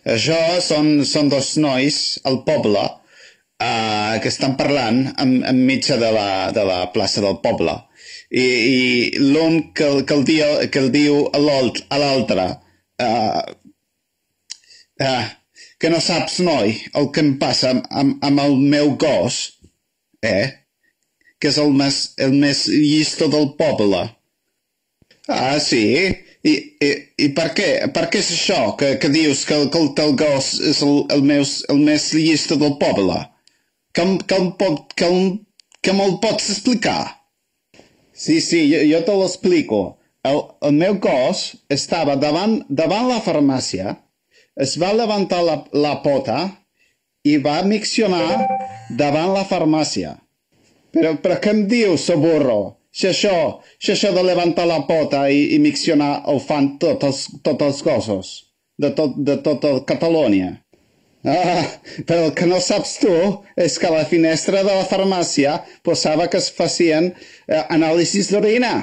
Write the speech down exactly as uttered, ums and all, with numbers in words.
Això són, són dos nois al poble uh, que estan parlant en, enmig de la, de la plaça del poble. I, i l'un que, que, el diu, que el diu a l'altre uh, uh, que no saps, noi, el que em passa amb, amb el meu gos, eh? Que és el més, el més llisto del poble. Ah, sí? I, i, i per què? Per què és això que, que dius que, que el teu gos és el, el, meus, el més llisto del poble? Que, que, que, que me'l pots explicar? Sí, sí, jo, jo te l'explico. El, el meu gos estava davant, davant la farmàcia, es va levantar la, la pota i va miccionar davant la farmàcia. Però, però què em dius, soburro? Si això, si això de levantar la pota i, i miccionar ho fan tots els, tots els gossos de, tot, de tota Catalunya. Ah, però el que no saps tu és que a la finestra de la farmàcia posava que es facien eh, anàlisis d'orina.